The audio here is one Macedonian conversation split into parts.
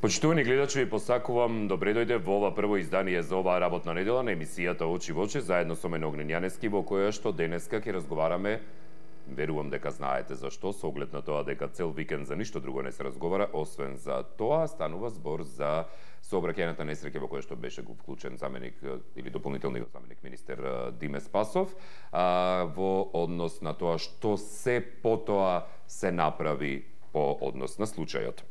Почитувани гледачи, ви посакувам добре дојде во ова прво издание за оваа работна недела на емисијата Очи во очи, заедно со мене Огнен Јаневски, во која што денеска ќе разговараме, верувам дека знаете зашто, со оглед на тоа дека цел викенд за ништо друго не се разговара, освен за тоа, станува збор за сообраќајната несреќа во која што беше вклучен заменик или дополнителниот заменик министер Диме Спасов, во однос на тоа што се потоа се направи по однос на случајот.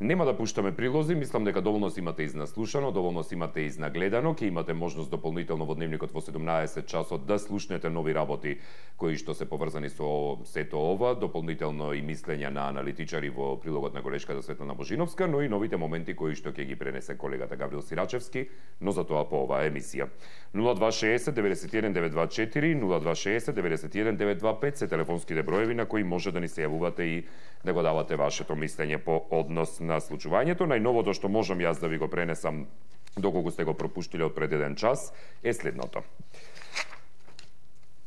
Нема да пуштаме прилози, мислам дека доволно си имате изнаслушано, доволно си имате изнагледано, ќе имате можност дополнително во дневникот во 17 часот да слушнете нови работи кои што се поврзани со сето ова, дополнително и мислења на аналитичари во прилогот на колешката Светлана Божиновска, но и новите моменти кои што ќе ги пренесе колегата Гаврил Сирачевски, но за тоа по оваа емисија. 0260 91 924, 0260 91 925 се телефонските броеви на кои може да ни се јавувате и да го давате вашето мислење по однос на случувањето. Најновото што можам јас да ви го пренесам, доколку сте го пропуштиле од пред еден час, е следното.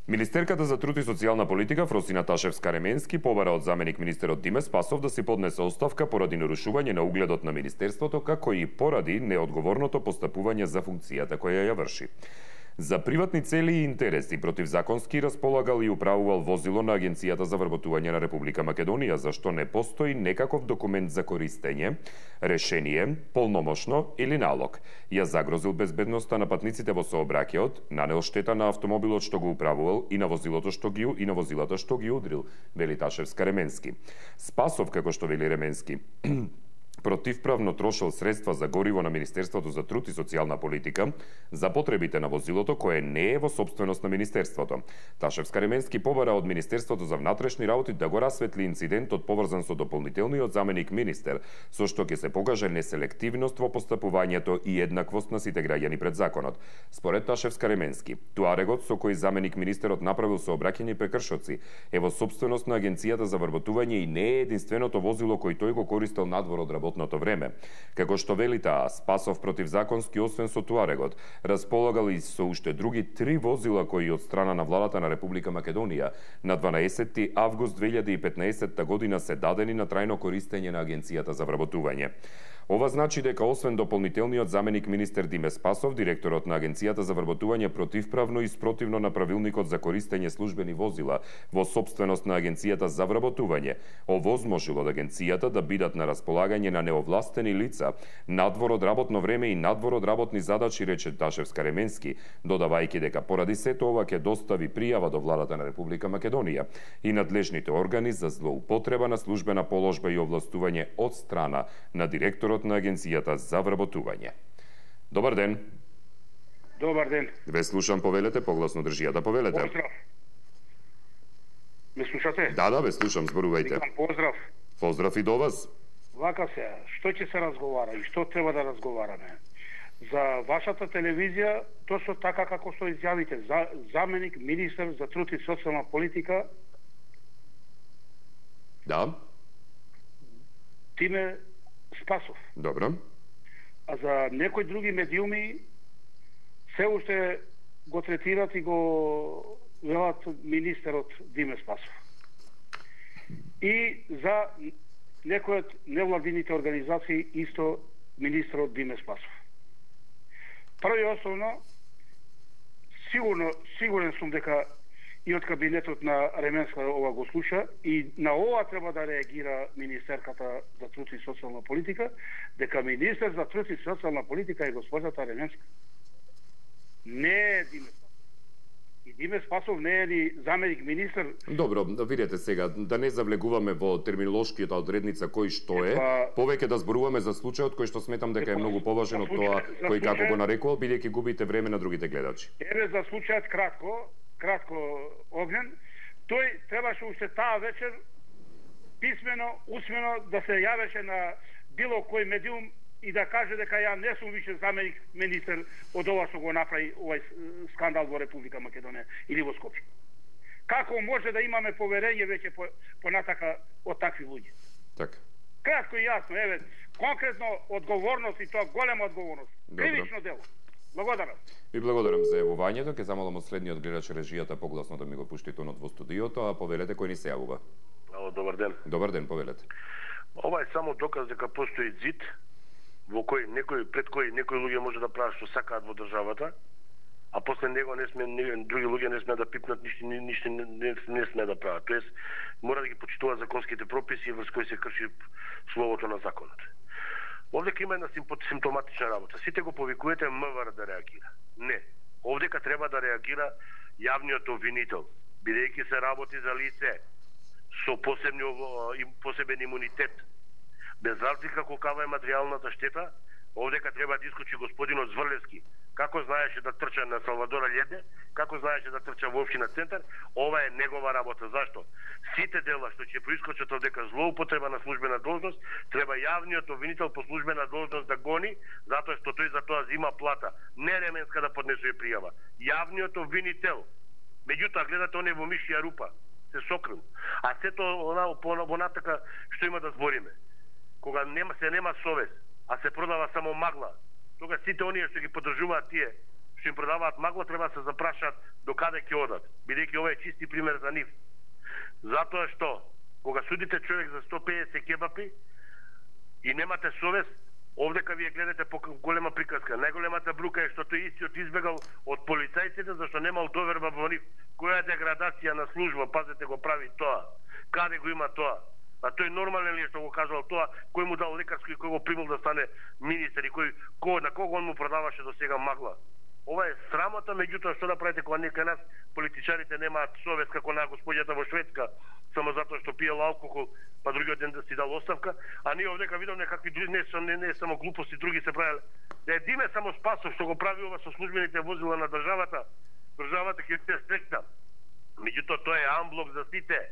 Министерката за труд и социјална политика Фросина Ташевска-Ременски побара од заменик министерот Диме Спасов да си поднесе оставка поради нарушување на угледот на министерството, како и поради неодговорното постапување за функцијата која ја врши. За приватни цели и интереси противзаконски располагал и управувал возило на Агенцијата за вработување на Република Македонија, за што не постои некаков документ за користење, решение, полномошно или налог. Ја загрозил безбедноста на патниците во сообраќајот, нанел штета на автомобилот што го управувал и на возилото што ги удрил, вели Ташевска-Ременски. Спасов, како што вели Ременски, противправно трошел средства за гориво на Министерството за труд и социјална политика за потребите на возилото кое не е во собственост на Министерството. Ташевска-Ременски побара од Министерството за внатрешни работи да го расветли инцидентот поврзан со дополнителниот заменик министер, со што ќе се покаже неселективност во постапувањето и еднаквост на сите граѓани пред законот. Според Ташевска-Ременски, туарегот со кој заменик министерот направил сообраќање прекршоци е во собственост на Агенцијата за вработување и не е единственото возило кој тој го користел надвор од работното време. Како што вели таа, Спасов противзаконски, освен со туарегот, располагал и со уште други 3 возила кои од страна на владата на Република Македонија на 12 август 2015 година се дадени на трајно користење на Агенцијата за вработување. Ова значи дека освен дополнителниот заменик министер Диме Спасов, директорот на Агенцијата за вработување противправно и спротивно на правилникот за користење службени возила во собственост на Агенцијата за вработување, овозможил од Агенцијата да бидат на располагање на неовластени лица надвор од работно време и надвор од работни задачи, рече Ташевска-Ременски, додавајќи дека поради сето ова ќе достави пријава до владата на Република Македонија и надлежните органи за злоупотреба на службена положба и овластување од страна на директорот на Агенцијата за вработување. Добар ден. Добар ден. Ве слушам, повелете, погласно држија да повелете. Поздрав. Ме слушате? Да, ве слушам, зборувајте. Викам поздрав. Поздрав и до вас. Вака се, што ќе се разговара и што треба да разговараме? За вашата телевизија, точно така како што изјавите, заменик министер за труд и социјална политика. Да. Диме Спасов. Добро. А за некои други медиуми се уште го третират и го велат министерот Диме Спасов. И за некои од невладините организации исто министерот Диме Спасов. Прво и основно, сигурен сум дека и од кабинетот на Ременска ова го слуша и на ова треба да реагира Министерката за труд и социјална политика, дека министер за труд и социјална политика е госпожата Ременска. Не е Диме Спасов. И Диме Спасов не е ни заменик министер. Добро, видете сега, да не завлегуваме во терминолошкијата одредница кој што е, повеќе да зборуваме за случајот кој што сметам дека е многу поважен од тоа кој како го нарекувал, бидејќи губите време на другите гледачи. Еве за случајот кратко Огнен, тој требаше уште таа вечер писмено, усмено да се јавеше на било кој медиум и да каже дека ја не сум више заменик министер од ова што го направи овај скандал во Република Македонија или во Скопје. Како може да имаме поверење веќе понатака од такви луѓе? Така. Кратко и јасно, еве, конкретно одговорност и тоа голема одговорност. Кривично дело. Благодарам. Ви благодарам за јавувањето. Ке замолам од следниот гледач режијата погласно да ми го пушти тонот во студиото, а повелете кој ни се јавува. Добар ден. Добар ден, повелете. Ова е само доказ дека постои зид пред кој некои луѓе може да прават што сакаат во државата, а после него други луѓе не сме да пипнат ништо не сме да прават. Тоест мора да ги почитуваат законските прописи врз кои се крши словото на законот. Овдека има една симптоматична работа. Сите го повикувате МВР да реагира. Не. Овдека треба да реагира јавниот обвинител, бидејќи се работи за лице со посебен имунитет. Без разлика колкава е материјалната штета, овдека треба да искочи господинот Зврлевски. Како знаеше да трча на Салвадора Леде, како знаеше да трча во општина Центар, ова е негова работа. Зашто? Сите дела што ќе проискочат овдека злоупотреба на службена должност, треба јавниот обвинител по службена должност да гони, затоа што тој за тоа зима плата. Не Ременска да поднесува пријава. Јавниот обвинител. Меѓутоа гледате оне во мишја рупа, се сокрил. А сето она натака што има да збориме. Кога нема совест, а се продава само магла, тога сите оние што ги поддржуваат тие, што им продаваат магла, треба да се запрашаат до каде ќе одат, бидејќи ова е чисти пример за нив. Затоа што, кога судите човек за 150 кебапи и немате совест, овдека вие гледате по голема приказка. Најголемата брука е што тој истиот избегал од полицајците, зашто немал доверба во нив. Која деградација на служба, пазете, го прави тоа? Каде го има тоа? А тој нормален ли е што го кажал тоа, кој му дал лекарско и кој го примил да стане министер и на кого он му продаваше до сега магла? Ова е срамота, меѓутоа што да правите кога некај нас политичарите немаат совест како на господјата во Шведска, само затоа што пиела алкохол, па другиот ден да си дал оставка, а ние овдека видовме какви не само глупости други се правеле. Да е Диме само Спасов што го прави ова со службените возила на државата ќе се стрекна. Меѓутоа тоа е амблок за сите.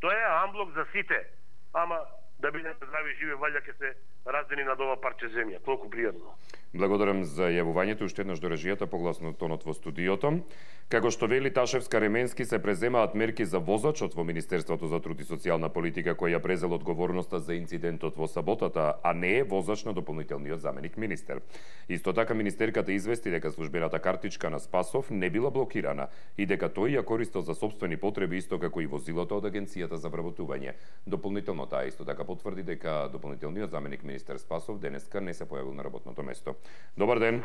Тоа е амблок за сите. Ама да бидете здрави и живи, валја ќе се раздени над ова парче земја. Толку пријатно. Благодарам за јавувањето, уште еднаш до режијата, погласно тонот во студиото. Како што вели Ташевска Ременски, се преземаат мерки за возачот во Министерството за труд и социјална политика, кој ја презел одговорноста за инцидентот во саботата, а не е возач на дополнителниот заменик министер. Исто така министерката извести дека службената картичка на Спасов не била блокирана и дека тој ја користел за сопствени потреби, исто како и возилото од Агенцијата за вработување. Дополнително таа исто така потврди дека дополнителниот заменик министер Спасов денеска не се појавил на работното место. Добар ден.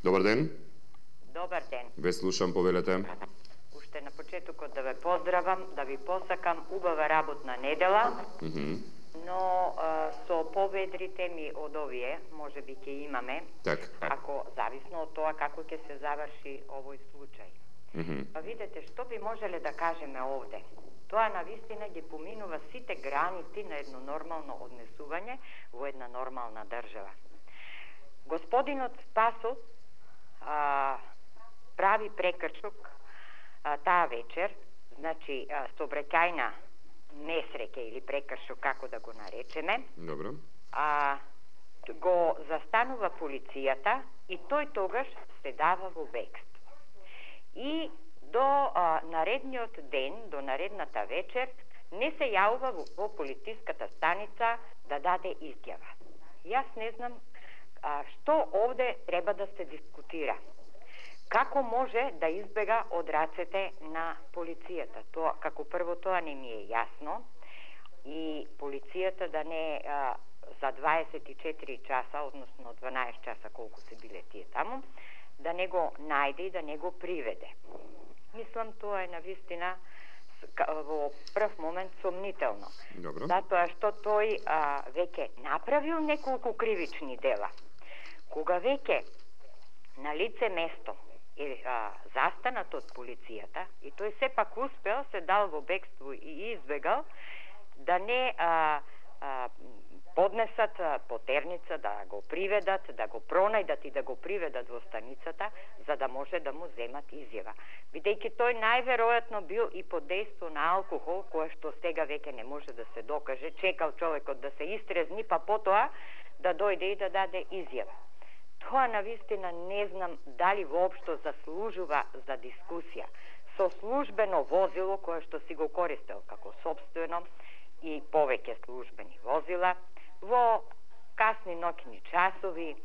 Добар ден. Добар ден. Ве слушам, повелете. Уште на почетокот да ве поздравам, да ви посакам убава работна недела. Но со поведрите ми од овие, може би ќе имаме, ако зависно од тоа како ќе се заврши овој случај. Па видете, што би можеле да кажеме овде? Тоа навистина ги поминува сите граници на едно нормално однесување во една нормална држава. Господинот Спасов прави прекршок таа вечер, значи сообраќајна несреќа или прекршок, како да го наречеме. Добро. Го застанува полицијата и тој тогаш се дава во бегство. И до наредниот ден, до наредната вечер, не се јавува во полициската станица да даде изјава. Јас не знам што овде треба да се дискутира. Како може да избега од рацете на полицијата? Тоа, како прво, тоа не ми е јасно. И полицијата да не за 24 часа, односно 12 часа, колку се биле тие таму, да не го најде и да не го приведе. Мислам, тоа е навистина во прв момент сомнително. Добро. Затоа што тој веќе направил неколку кривични дела. Кога веќе на лице место е застанат од полицијата и тој сепак успел, се дал во бегство и избегал, да не поднесат потерница, да го приведат, да го пронајдат и да го приведат во станицата, за да може да му земат изјава. Бидејќи тој најверојатно бил и под дејство на алкохол, кое што сега веќе не може да се докаже, чекал човекот да се истрезни, па потоа да дојде и да даде изјава. Тоа навистина не знам дали воопшто заслужува за дискусија. Со службено возило, кое што си го користел како сопствено и повеќе службени возила, во касни ноќни часови,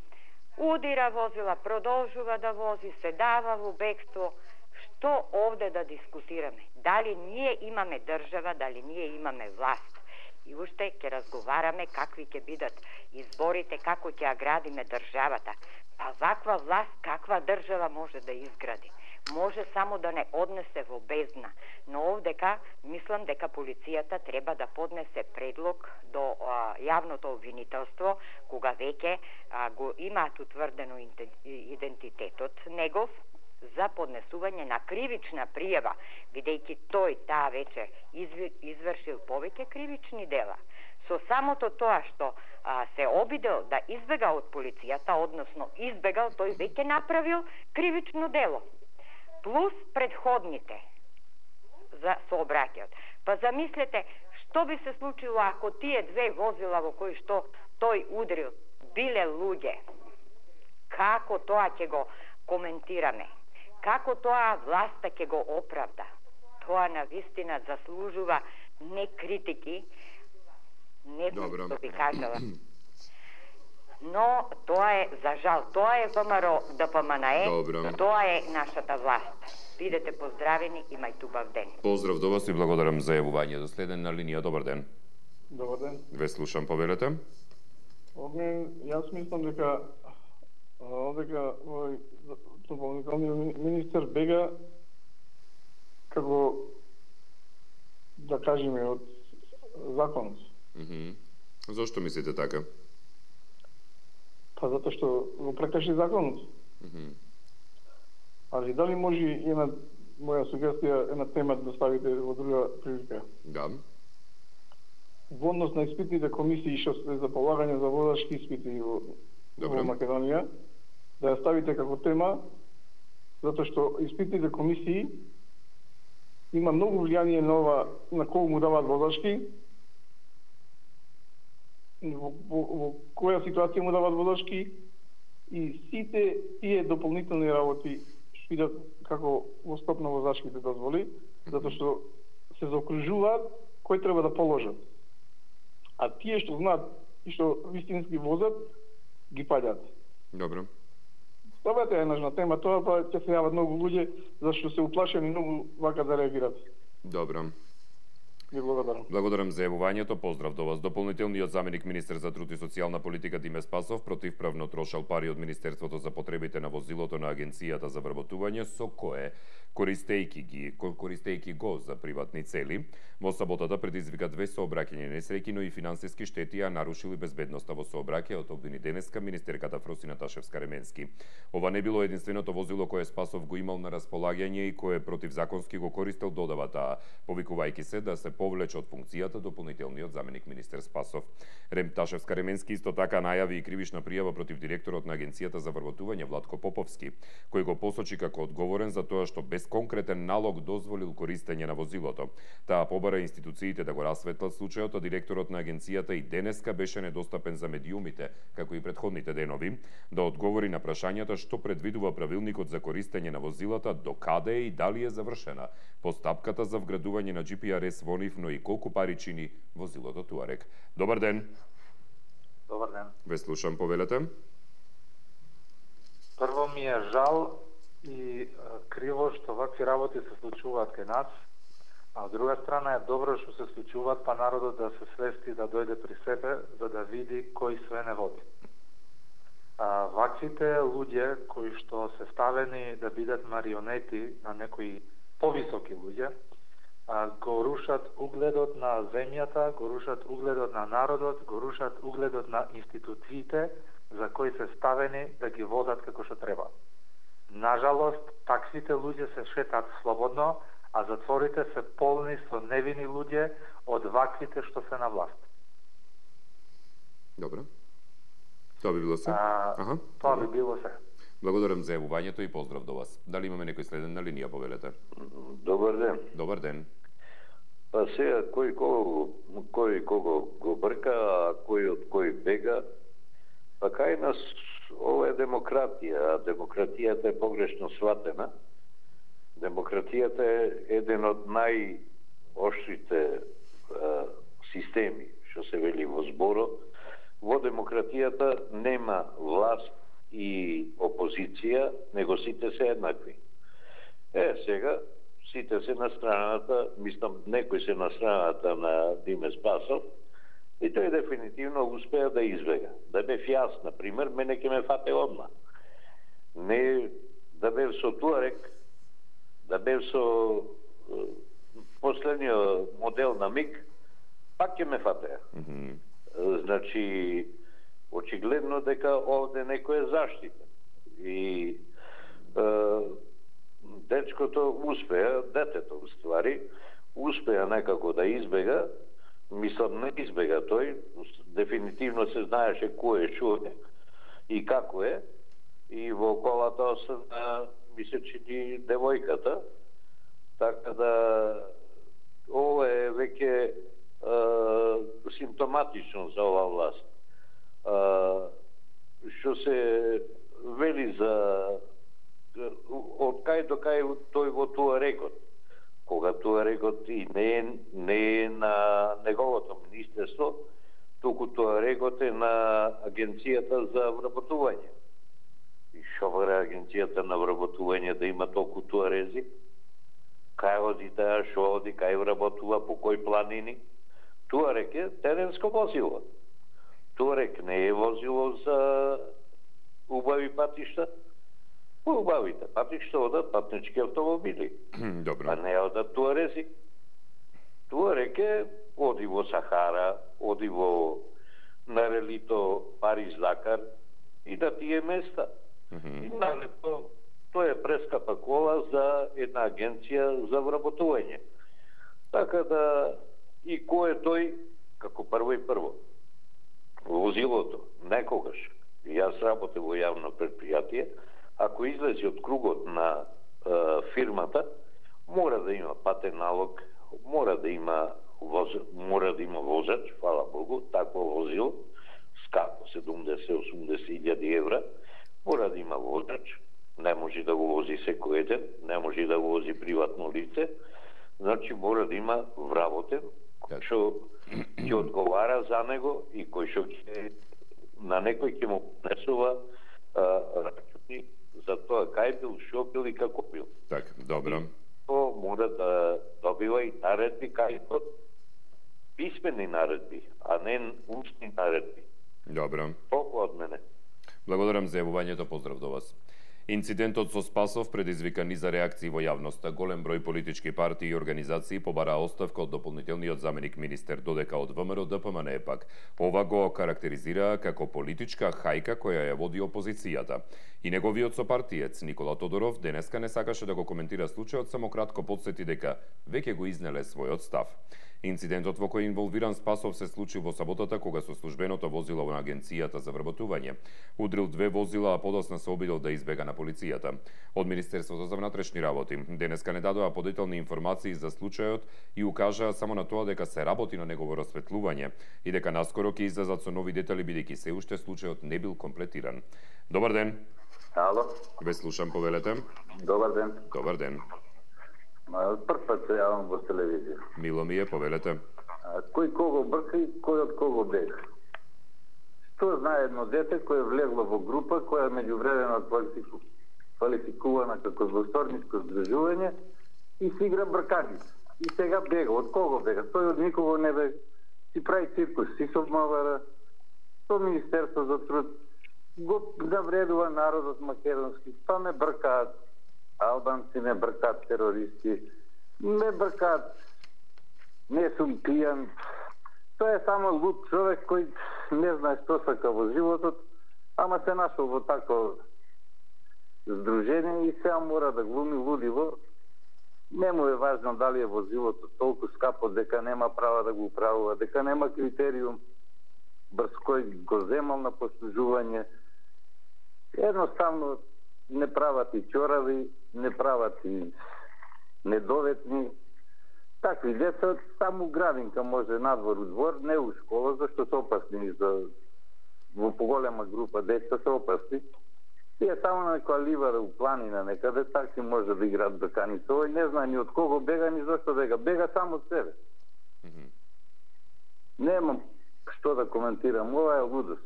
удира возила, продолжува да вози, се дава во бегство. Што овде да дискутираме? Дали ние имаме држава, дали ние имаме власт? И уште ќе разговараме какви ќе бидат изборите, како ќе ја градиме државата. Па ваква власт каква држава може да изгради? Може само да не однесе во бездна. Но овдека мислам дека полицијата треба да поднесе предлог до јавното обвинителство, кога веќе го имаат утврдено идентитетот негов, за поднесување на кривична пријава, бидејќи тој таа вечер извршил повеќе кривични дела. Со самото тоа што се обидел да избега од полицијата, односно избегал, тој веќе направил кривично дело. Плюс предходните за сообраќајот. Па замислете, што би се случило ако тие две возила во кои што тој удрил биле луѓе? Како тоа ќе го коментираме? Како тоа власта ќе го оправда? Тоа навистина заслужува не критики, не што би кажала. Но тоа е, за жал, тоа е ВМРО ДПМНЕ, тоа е нашата власт. Бидете поздравени, имајте убав ден. Поздрав до вас и благодарам за јавувањето. Следен на линија, добар ден. Добар ден. Ве слушам, повелете. Јас мислам дека овој дополнителниот министер бега како да кажеме од законот. Зошто мислите така? Па затоа што го прекрши законот. Али дали може една моја сугестија, една тема да ставите во друга прилика? Да. Во однос на испитните комисии што се за полагање за возачки испити во Македонија, да ја ставите како тема, затоа што испитните комисии има многу влијание на кого му даваат возачки, во која ситуација му даваат возачки и сите тие дополнителни работи што идат како во стоп на возачките дозволи, затоа што се заокружуваат кој треба да положат. А тие што знаат и што вистински возат, ги паѓат. Добро. Ставете е нужна тема, тоа па ќе се јават многу луѓе зашто се уплашени многу вака да реагират. Добро. Ви благодарам. Благодарам за јавувањето. Поздрав до вас. Дополнителниот заменик министер за труд и социјална политика Диме Спасов противправно трошал пари од Министерството за потребите на возилото на Агенцијата за вработување, со кое користејќи го за приватни цели. Во саботата предизвика 2 сообраќајни несреќи, но и финансиски штети, а нарушили безбедноста во сообраќајот, обвини денеска министерката Фроси Наташев Скаременски. Ова не било единственото возило кое Спасов го имал на располагање и кое противзаконски го користел, додава таа, повикувајќи се да се повлече од функцијата дополнителниот заменик министер Спасов. Рем Ташев Скаременски исто така најави и кривична пријава против директорот на Агенцијата за вработување Владко Поповски, кој го посочи како одговорен за тоа што без конкретен налог дозволил користење на возилото. Таа побара институциите да го расветлат случајот, а директорот на агенцијата и денеска беше недостапен за медиумите, како и претходните денови, да одговори на прашањата што предвидува правилникот за користење на возилата, до каде и дали е завршена постапката за вградување на GPRS во нив, но и колку пари чини возилото Туарек. Добар ден. Добар ден. Ве слушам, повелете. Прво ми е жал и криво што вакви работи се случуваат кај нас, а од друга страна е добро што се случуваат, па народот да се свести, да дојде при себе, за да види кој све не води. Ваквите луѓе кои што се ставени да бидат марионети на некои повисоки луѓе, го рушат угледот на земјата, го рушат угледот на народот, го рушат угледот на институциите за кои се ставени да ги водат како што треба. Нажалост, таквите луѓе се шетат слободно, а затворите се полни со невини луѓе од ваквите што се на власт. Добро. Тоа би било се? Тоа би било се. Благодарам за јавувањето и поздрав до вас. Дали имаме некој следен на линија, повелете? Добар ден. Добар ден. Па сега, кој кого го брка, а кој од кој бега. Па кај нас ова е демократија, а демократијата е погрешно сватена. Демократијата е еден од најоштрите системи, што се вели во зборот. Во демократијата нема власт и опозиција, него сите се еднакви. Сега, сите се на страната, мислам, некои се на страната на Диме Спасов, И тој дефинитивно успеа да избега. Да бев јас, например, мене ќе ме фате одма. Не да бев со Туарек, да бев со последниот модел на МИГ, пак ќе ме фатеа. Значи, очигледно дека овде некој е заштитен. И дечкото успеа, детето уствари, успеа некако да избега, мислам не избега тој, дефинитивно се знаеше кој е, шо е и како е, и во колата остана, мисля, че ни девојката, така да ова е веќе симптоматично за ова власт. Што се вели за од кај до кај тој во Туарегот, кога Туарегот и не е на неговото министерство, туку Туарегот е на Агенцијата за вработување. И шо вара Агенцијата на вработување да има толку туарези? Кај оди таа, шо оди, кај вработува, по кој планини? Туарек е теренско возило. Туарек не е возило за убави патишта. По убавите патишта одат патнички автомобили. Добро. А не одат туарези. Туарек е оди во Сахара, оди во Нарелито, Париж, Дакар и да тие места. И налепо тоа е прескапа кола за една агенција за вработување. Така да и кој е тој, како прво и прво, возилото, некогаш, јас работев во јавно предпријатие, ако излези од кругот на фирмата, мора да има патен налог, мора да има возач, фала Богу, такво возило, скапо 70-80 илјади евра, мора да има возач, не може да го вози секој еден, не може да го вози приватно лице, значи мора да има вработен, кој што ќе одговара за него и кој што на некој ќе му понесува рачуни за тоа кај бил, шо бил и како бил. Так, добро. То мора да добива и наредби кај тоа писмени наредби, а не устни наредби. Добро. Толку од мене. Благодарам за јавувањето, поздрав до вас. Инцидентот со Спасов предизвика низа реакции во јавноста. Голем број политички партии и организации побараа оставка од дополнителниот заменик министер, додека од ВМРО ДПМН пак ова го карактеризираа како политичка хајка која ја води опозицијата. И неговиот сопартиец Никола Тодоров денеска не сакаше да го коментира случајот, само кратко потсети дека веќе го изнеле својот став. Инцидентот во кој инволвиран Спасов се случи во саботата кога со службеното возило на Агенцијата за вработување удрил 2 возила, а подосна се обидел да избега на полицијата. Од Министерството за внатрешни работи денеска не дадоа подетелни информации за случајот и укажаа само на тоа дека се работи на негово расветлување и дека наскоро ќе излезат со нови детали бидејќи се уште случајот не бил комплетиран. Добар ден. Ало. Ве слушам, повелете. Добар ден. Добар ден. Прв пат се јавам во телевизија. Мило ми е, повелете. Кој кого брка и кој од кого бега? Што знае едно дете кое влегло во група која меѓувремено квалификувана како злосторничко здружување и си игра брканица. И сега бега. Од кого бега? Тој од никого не бега. Си прави циркус, си со МВР, со Министерство за труд, го навредува народот македонски, па ме бркаат албанци, ме бркаат терористи, ме бркаат не сум пијан. Тоа е само луд човек кој не знае што сака во животот, ама се нашол во тако здружение и сега мора да глуми лудиво. Не му е важно дали е возилото толку скапо дека нема права да го управува, дека нема критериум брз кој го земал на послужување. Едноставно не прават и чорави, не прават и недоветни. Такви деца само градинка може надвор у двор, не у школа, зашто се опасни во поголема група деца се опасни. Тие само на некоја ливара у планина некаде, такси може да играат брканица. Овој не знае ни од кого бега, ни зашто бега. Бега само од себе. Немам што да коментирам. Ова е лудост.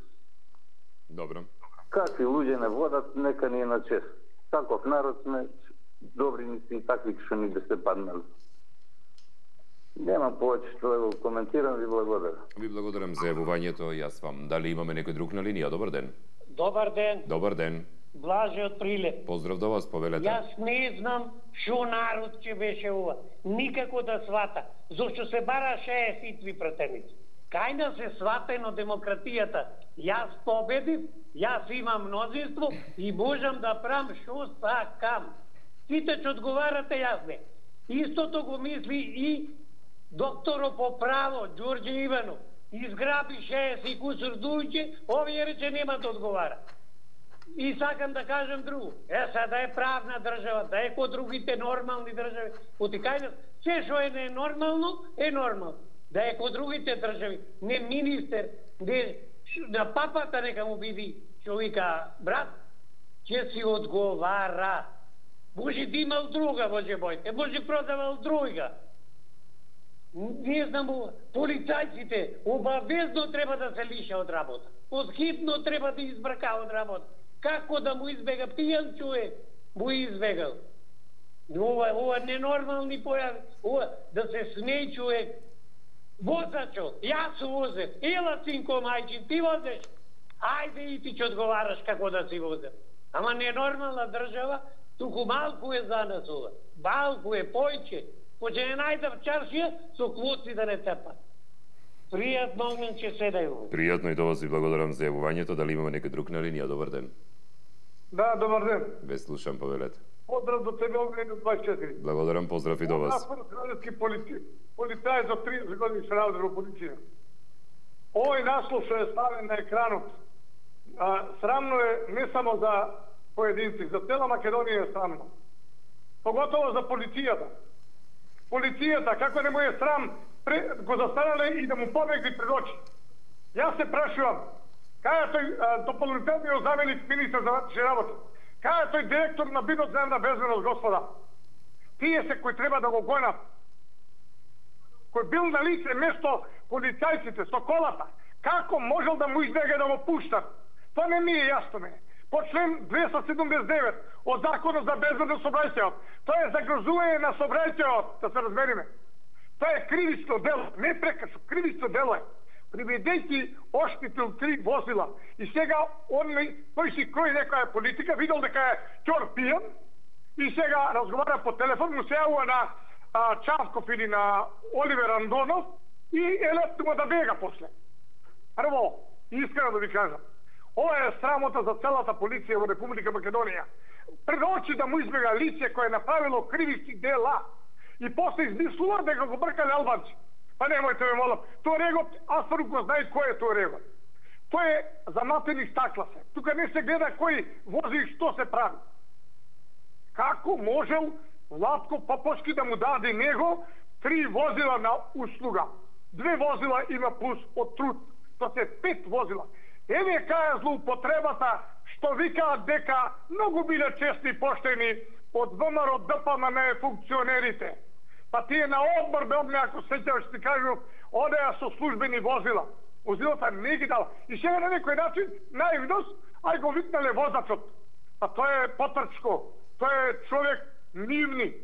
Добро. Какви луѓе не водат, нека ни е на чест. Таков народ сме, добри ни си и такви што ни да се паднали. Немам повеќе што да го коментирам, ви благодарам. Ви благодарам за јавувањето, јас вам. Дали имаме некој друг на линија? Добар ден. Добар ден. Добар ден. Блаже од Прилеп. Поздрав до вас, повелете. Јас не знам шо народ ќе беше ова. Никако да свата. Зошто се бара 60 пратеници. Кај да се сватено демократијата. Јас победив, јас имам мнозинство и можам да правам шо сакам. Сите ќе одговарате, јас не. Истото го мисли и докторо по право, Ѓорѓе Иванов. Изграби 60 кусур дујќи, овие рече нема да одговара. И сакам да кажем друго. Да е правна држава, да е ко другите нормални држави. Потикајна, се што е ненормално, е нормално. Да е ко другите држави. Не министер, не на папата нека му биди, што вика брат, ќе си одговара. Може да имал друга, Боже мојте, може продавал друга. Не знам, полицајците обавезно треба да се лиша од работа. Подхитно треба да избрака од работа. Како да му избега пијан човек, му избегал. Ова ненормални појави, ова да се смеј човек. Возачо, јас возев, ела синко мајчин, ти возеш. Ајде и ти ќе одговараш како да си возев. Ама ненормална држава, туку малку е за нас ова. Малку е појче. Поќе не најдав чаршија, со квоци да не тепат. Пријатно мен ќе седају. Пријатно и до вас ви благодарам за јавувањето. Дали имаме некој друг на линија? Добар ден. Да, добар ден. Ве слушам, повелете. Поздрав до тебе, Огнено 24. Благодарам, поздрав и до вас. Аз градски полицај за 30 години се работи во полиција. Овој наслов што е ставен на екранот, срамно е не само за поединци, за цела Македонија е срамно. Поготово за полицијата. Полицијата, како не му е срам, го застанале и да му побегли пред очи. Јас се прашувам, кај е тој дополнителниот заменик министар за ватрешни работи? Кај е тој директор на Бидоземна безбедност, господа? Тие се кои треба да го гонат. Кој бил на лице место полицајците со колата, како можел да му избега да го пуштат? Тоа не ми е јасно ме. По член 279 од Законот за безбедност сообраќајот, тоа е загрозување на сообраќајот, да се разбериме. Тоа е кривично дело, не прекршок, кривично дело е. Приведејќи оштитил 3 возила и сега тој си крои некоја политика, видел дека е ќор пијан и сега разговара по телефон, му се јавува на Чавков или на Оливер Андонов и електно да бега после. Прво, искрено да ви кажам, ова е срамота за целата полиција во Република Македонија. Пред очи да му избега лице кое е направило кривични дела и после измислува дека го бркале албанци. Па немојте ме молам. Тој регот, аз го знај кој е тој регот. Тој е заматени стакла се. Тука не се гледа кој вози и што се прави. Како можел Владко Попошки да му даде него 3 возила на услуга? 2 возила има плюс од труд. Тоа се 5 возила. Еве кај е злоупотребата што викаат дека многу биле честни и поштени од ВМРО ДПМН функционерите. Па тие на одбор бе ако сеќаваш ти кажу, одеа со службени возила. Возилата не ги дала. И сега на некој начин, наивност, ај го викнале возачот. Па тој е потрчко. Тој е човек нивни.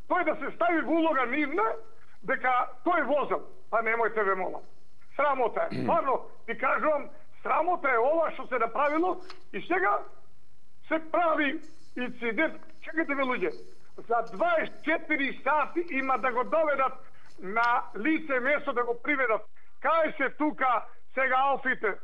Тој да се стави во улога нивна, дека тој возел. Па немојте ве молам. Срамота е. Парно, ти кажувам, срамота е ова што се направило и сега се прави инцидент. Чекайте ве луѓе. За 24 сати има да го доведат на лице место да го приведат. Кај се тука сега алфите?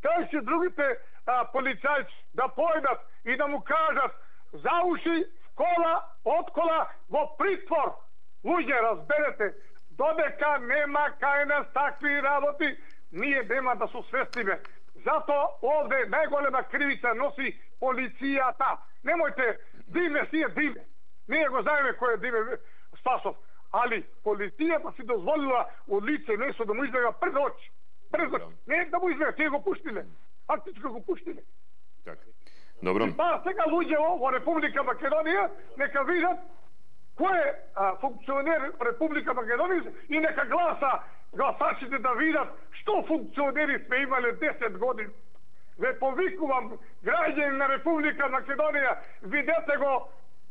Кај се другите полицајци да појдат и да му кажат за уши, кола, од кола, во притвор? Луѓе, разберете, додека нема кај нас такви работи, ние нема да се свестиме. Зато овде најголема кривица носи полицијата. Немојте, Диме си е Диме. Ние го знаеме кој е Диме Спасов. Али полицијата си дозволила од лице место да му избега пред очи. Пред очи. Не да му избега, тие го пуштиле. Фактички го пуштиле. Така. Добро. И па сега луѓе во Република Македонија нека видат кој е функционер Република Македонија и нека гласачите да видат што функционери сме имале 10 години. Ве повикувам, граѓани на Република Македонија, видете го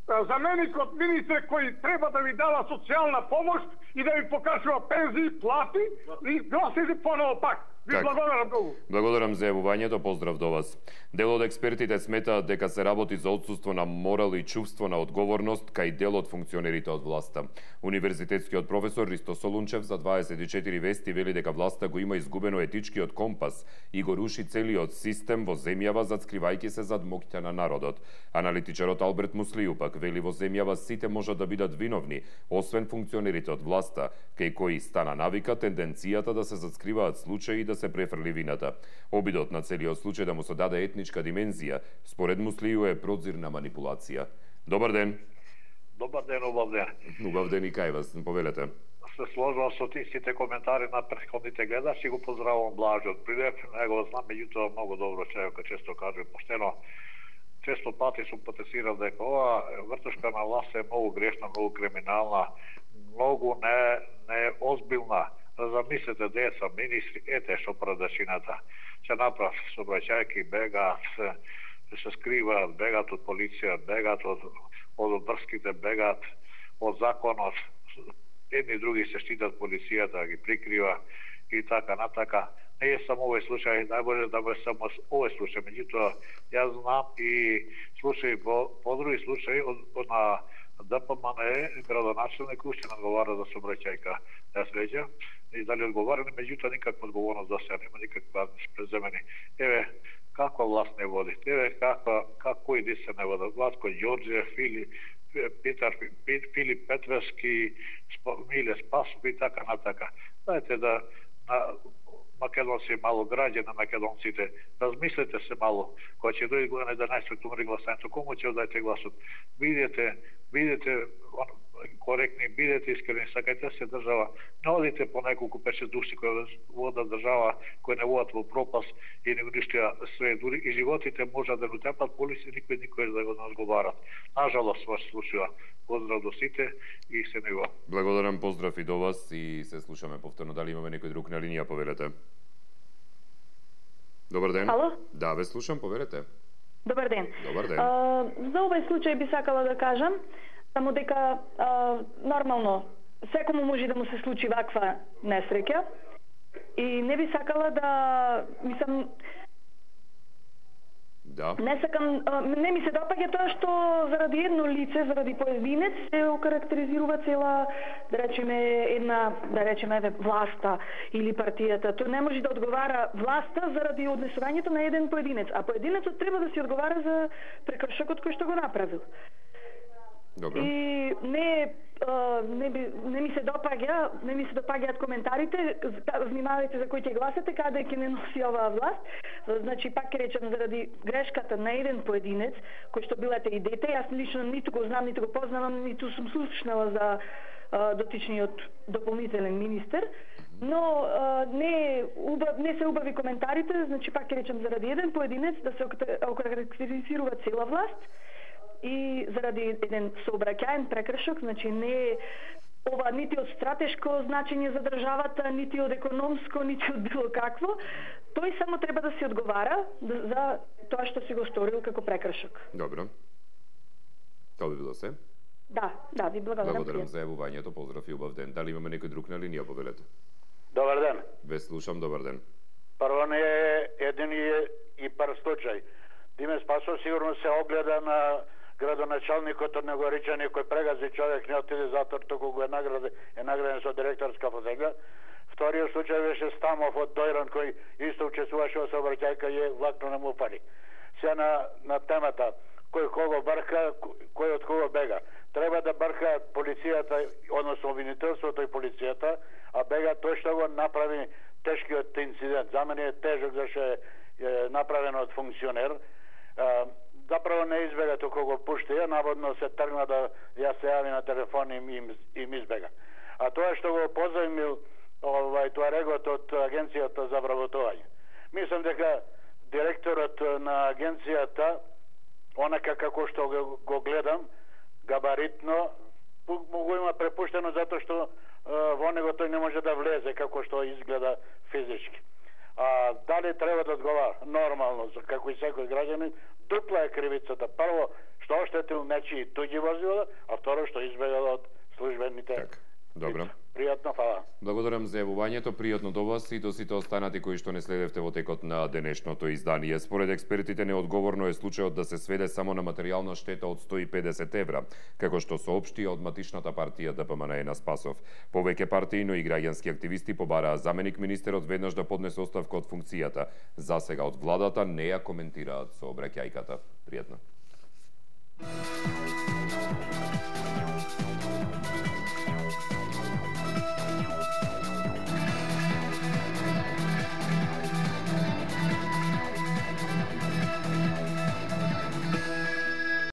заменикот министер кој треба да ви дава социјална помош и да ви покажува пензии, плати и гласите поново пак. Ви благодарам многу. Благодарам за јавувањето, поздрав до вас. Дел од експертите сметаат дека се работи за отсуство на морал и чувство на одговорност кај дел од функционерите од власта. Универзитетскиот професор Ристо Солунчев за 24 вести вели дека власта го има изгубено етичкиот компас и го руши целиот систем во земјава зацкривајќи се зад моќта на народот. Аналитичарот Алберт Муслију пак вели во земјава сите можат да бидат виновни, освен функционерите од власта, кај кои стана навика тенденцијата да се зацкриваат случаи и да се префрли вината. Обидот на целиот случај да му се даде етничка димензија, според Муслију е продзир на манипулација. Добар ден. Добар ден, убав ден. Убав ден и кај вас, повелете. Се сложувам со тистите коментари на претходните гледачи, го поздравувам Блажо од Прилеп, него го знам, меѓутоа многу добро човек, често кажем поштено. Често пати сум потесирал дека ова вртушка на власт е многу грешна, многу криминална, многу не озбилна. Замислете деца, министри, ете што продачината. Се направ сообраќајки, бегаат, се скриваат, бегаат од полиција, бегаат од врските, бегаат од законот. Едни и други се штитат полицијата, ги прикрива и така натака. Не е само овој случај, најболje да е само овој случај, меѓутоа јас знам и случаи по други случаи од на ДПМН градоначелник уште не одговара за сообраќајка на среќа и дали одговара, меѓутоа никаква одговорност да се нема, никаква преземени. Еве каква власт не води, еве кои се не водат, Владко Ѓорѓев, Филип Петровски, Миле Спасов и така натака. Дајте да македонци мало граѓани, македонците, размислете се мало, кога ќе дојде година 11 октомври гласањето, кому ќе дадете гласот? Бидете коректни, бидете искрени, сакајте се држава, не одите по неколку 5-6 души кои водат држава, кои не водат во пропаст и не уништија све, дури и животите можат да го тепат полиција, никој да го не одговарат. Нажалост вас случува. Поздрав до сите и се него. Благодарам, поздрав и до вас и се слушаме повторно. Дали имаме некој друг на линија, повелете? Добар ден. Ало? Да, ве слушам, повелете. Добар ден. Добар ден. За овој случај би сакала да кажам само дека нормално секому може да му се случи ваква несреќа и не би сакала да не ми се допаѓа тоа што заради едно лице, заради поединец се окарактеризирува цела, да речеме власта или партијата. Тој не може да одговара власта заради однесувањето на еден поединец, а поединецот треба да си одговара за прекршокот кој што го направил. Добро. И не ми се допаѓаат коментарите, внимавајте за кој ќе гласате, каде ќе не носи оваа власт. Значи, пак ќе речем, заради грешката на еден поединец, кој што билате и дете, јас лично ниту го знам, ниту го познавам, ниту сум слушнала за дотичниот дополнителен министер, но не се убави коментарите, значи пак ќе речем, заради еден поединец да се окарактеризирува цела власт, и заради еден сообраќаен прекршок, значи не е ова нити од стратешко значење за државата, нити од економско, нити од било какво. Тој само треба да се одговара за тоа што си го сторил како прекршок. Добро. Тоа би било се? Да, ви благодарам. Благодарам за јавувањето, поздрав и убав ден. Дали имаме некој друг на линија, повелете? Добар ден. Ве слушам, добар ден. Прво не е еден и прв случај. Диме Спасов сигурно се огледа на градоначалникот од Негоричани кој прегази човек, не отиде затвор, туку го е награден со директорска фотелја. Вториот случај беше Стамов од Дојран кој исто учествуваше во сообраќајка и влакно не му фали. Сега на темата кој кого брка, кој од кого бега. Треба да брка полицијата, односно обвинителството и полицијата, а бега тој што го направи тешкиот инцидент. За мене е тежок зашто е направено од функционер. Заправо не избега, туку го пушти, наводно се тргна да ја се јави на телефон и им избега. А тоа што го позајмил туарегот од агенцијата за вработување. Мислам дека директорот на агенцијата, онака како што го гледам, габаритно, го има препуштено затоа што во него тој не може да влезе како што изгледа физички. Дали треба да одговара? Нормално, како и секој граѓанин, дупла е кривицата. Прво, што оштетил нечии туѓи возила, а второ што избегал од службените. Так. Добро. Пријатно, фала. Благодарам за јавувањето, пријатно до вас и до сите останати кои што не следевте во текот на денешното издание. Според експертите неодговорно е случајот да се сведе само на материјална штета од 150 евра, како што соопшти од матичната партија ДПМН на Спасов. Повеќе партии, но и граѓански активисти побараа заменик министерот веднаш да поднесе оставка од функцијата. За сега од владата не ја коментираат со обраќајката. Пријатно.